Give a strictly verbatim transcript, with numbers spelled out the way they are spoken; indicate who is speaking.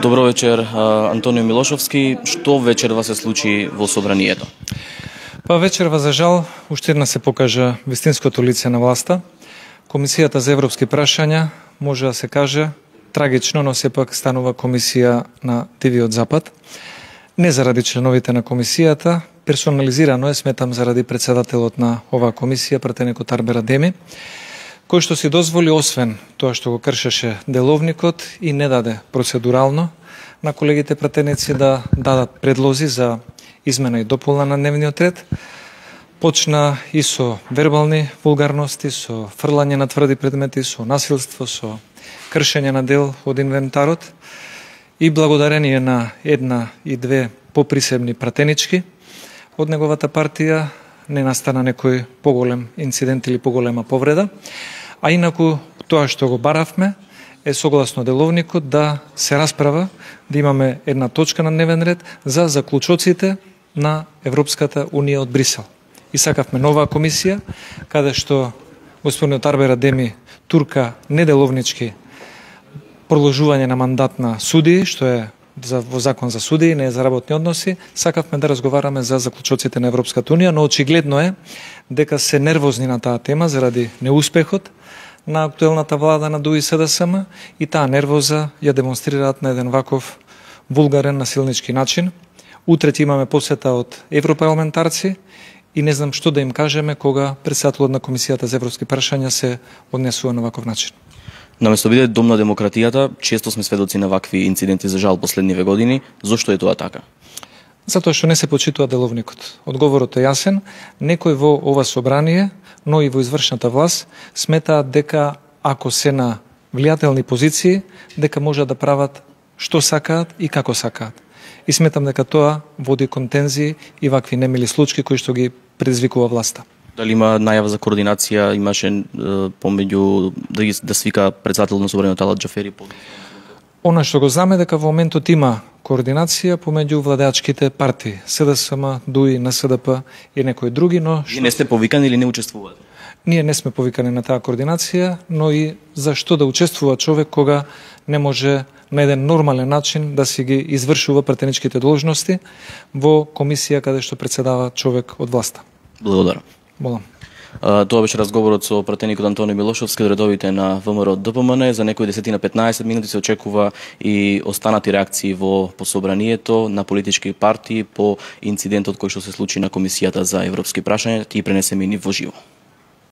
Speaker 1: Добро вечер, Антонио Милошовски. Што вечерва се случи во собранието?
Speaker 2: Па вечерва, за жал, уште една се покажа вистинското лице на власта. Комисијата за европски прашања, може да се каже, трагично, но сепак станува комисија на Дивиот Запад. Не заради членовите на комисијата, персонализирано е, сметам, заради председателот на оваа комисија, пратеникот Арбер Адеми, кој што си дозволи, освен тоа што го кршеше деловникот, и не даде процедурално на колегите пратеници да дадат предлози за измена и дополна на дневниот ред. Почна и со вербални вулгарности, со фрлање на тврди предмети, со насилство, со кршење на дел од инвентарот, и благодарение на една и две поприсебни пратенички од неговата партија не настана некој поголем инцидент или поголема повреда, а инаку тоа што го баравме е согласно деловникот да се расправа, да имаме една точка на дневен ред за заклучоците на Европската Унија од Брисел. И сакавме нова комисија, каде што господинот Арбер Адеми турка неделовнички продолжување на мандат на судии, што е за, во закон за судии, не е за работни односи. Сакавме да разговараме за заклучоците на Европската Унија, но очигледно е дека се нервозни на таа тема заради неуспехот на актуелната влада на ДУИ СДСМ, и таа нервоза ја демонстрираат на еден ваков вулгарен насилнички начин. Утре ќе имаме посета од европарламентарци и не знам што да им кажеме кога председателот на Комисијата за европски прашања се однесува на ваков начин.
Speaker 1: Наместо биде дом на демократијата, често сме сведоци на вакви инциденти, за жал, последниве години. Зошто е тоа така?
Speaker 2: Затоа што не се почитува деловникот. Одговорот е јасен. Некој во ова собрание, но и во извршната власт, сметаат дека ако се на влијателни позиции, дека можат да прават што сакаат и како сакаат. И сметам дека тоа води кон тензии и вакви немили случаи кои што ги предизвикува власта.
Speaker 1: Дали има најава за координација, имаше е, помеѓу да, ги, да свика председател на собранието Талат Џафери?
Speaker 2: Она што го знаме дека во моментот има координација помеѓу владеачките партии, СДСМ, ДУИ, НСДП и некои други, но
Speaker 1: што... Не сте повикани или не учествувате?
Speaker 2: Ние не сме повикани на таа координација, но и зашто да учествува човек кога не може на еден нормален начин да си ги извршува пратеничките должности во комисија каде што председава човек од власта.
Speaker 1: Благодарам.
Speaker 2: Молам.
Speaker 1: Тоа беше разговорот со пратеникот Антонио Милошовски од редовите на ВМРО ДПМН. За некои десетина петнаесет минути се очекува и останати реакции во пособранието на политички партии по инцидентот кој што се случи на Комисијата за европски прашања, и пренесеме ни во живо.